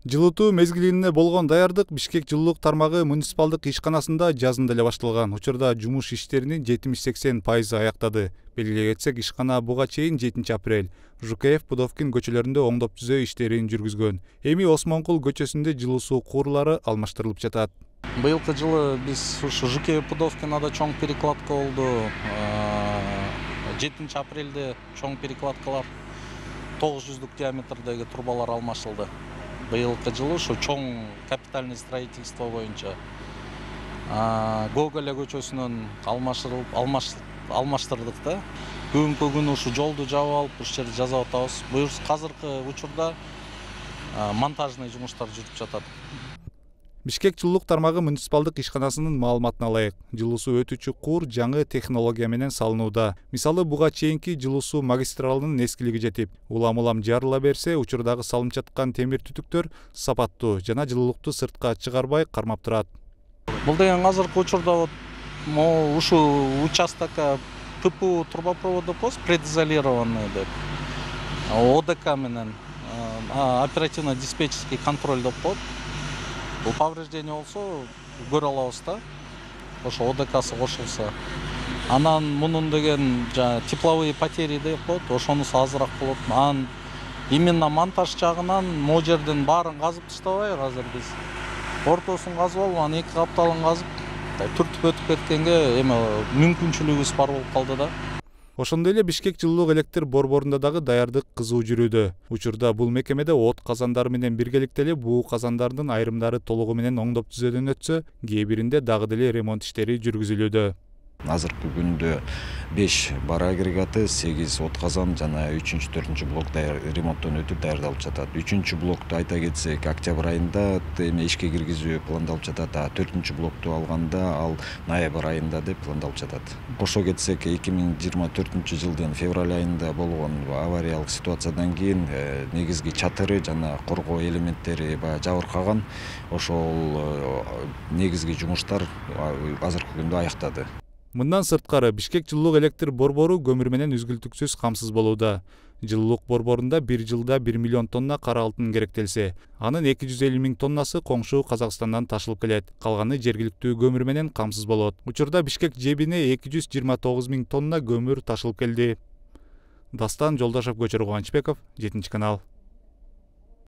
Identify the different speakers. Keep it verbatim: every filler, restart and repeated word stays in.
Speaker 1: Жылытуу мезгилине болгон даярдык Бишкек жылуулук тармагы муниципалдык ишканасында жазында эле башталган. Учурда жумуш иштеринин жетимиш-сексен пайызы аяктады. Белгилей кетсек, ишкана буга чейин жетинчи апрель Жукеев, Пудовкин көчөлөрүндө оңдоп түзөө иштерин жүргүзгөн. Эми Осмонкул көчөсүндө жылуу суу куурулары алмаштырылып жатат.
Speaker 2: Быйылкы жылы биз ушу Жукеев, Пудовкинада чоң перекладка болду. жетинчи апрелде чоң перекладкалар тогуз жүздүк диаметрдеги трубалар алмашылды. Быйылкы жылы ушу чоң капитальный строительство боюнча Гоголя көчөсүнөн алмаштырылып алмаштырдык да. Бүгүнкү күнү ушу жолду жаап алып, ушул жерди жасап атабыз. Азыркы учурда монтажный жумуштар жүрүп жатат.
Speaker 1: Бишкек жылуулук тармагы муниципалдык ишканасынын маалыматына ылайык, жылуу суу өтүүчү куур жаңы технология менен салынууда. Мисалы, буга чейинки жылуу суу магистралынын эскилиги жетип, улам-улам жарыла берсе, учурдагы салынып жаткан темир түтүктөр сапаттуу жана жылуулукту сыртка чыгарбай кармап турат.
Speaker 2: Бул деген азыркы учурда вот ушул участокко ТПУ трубопровод деп коебуз, предизолированный деп. ОДК менен оперативно-диспетчерский контроль деп коет. Бул повреждение болсо көрө алабыз да. Ошо ОДКсы кошулса. Анан мунун деген тепловые потери деп коет, ошонусу азыраак болот. Анан именно монтаж жагынан могу жерден баарын казып таштабайбы азыр биз. Ортосун казып алып, анан эки капталын казып, түртүп өтүп кеткенге эме мүмкүнчүлүгүбүз бар болуп калды да.
Speaker 1: Ошондой эле Бишкек жылуулук электр борборунда дагы даярдык кызуу жүрүүдө. Учурда бул мекемеде от казандары менен биргеликте эле буу казандардын айрымдары толугу менен оңдоп түзөөдөн өтсө, кээ биринде дагы деле ремонт иштери жүргүзүлүүдө.
Speaker 3: Азыркы күндө беш бар агрегаты, сегиз от казан жана үчүнчү, төртүнчү блок ремонттон өтүп даярдалып жатат. үчүнчү блокту айта кетсек, октябрь айында эме ишке киргизүү пландалып жатат, а төртүнчү блокту алганда ал ноябрь айында деп пландалып жатат. Кошо кетсек, эки миң жыйырма төртүнчү жылдын февраль айында болгон авариялык ситуациядан кийин негизги чатыры жана коргоо элементтери баягы жабыркаган. Ошол негизги жумуштар азыркы күндө аяктады.
Speaker 1: Мындан сырткары Бишкек жылуулук электр борбору көмүр менен үзгүлтүксүз камсыз болууда. Жылуулук борборунда бир жылда бир миллион тонна кара алтын керектелсе, анын эки жүз элүү миң тоннасы коңшу Казакстандан ташылып келет. Калганы жергиликтүү көмүр менен камсыз болот. Учурда Бишкек жебине эки жүз жыйырма тогуз миң тонна көмүр ташылып келди. Дастан Жолдошов, Көчөр Кубанычбеков, жетинчи канал.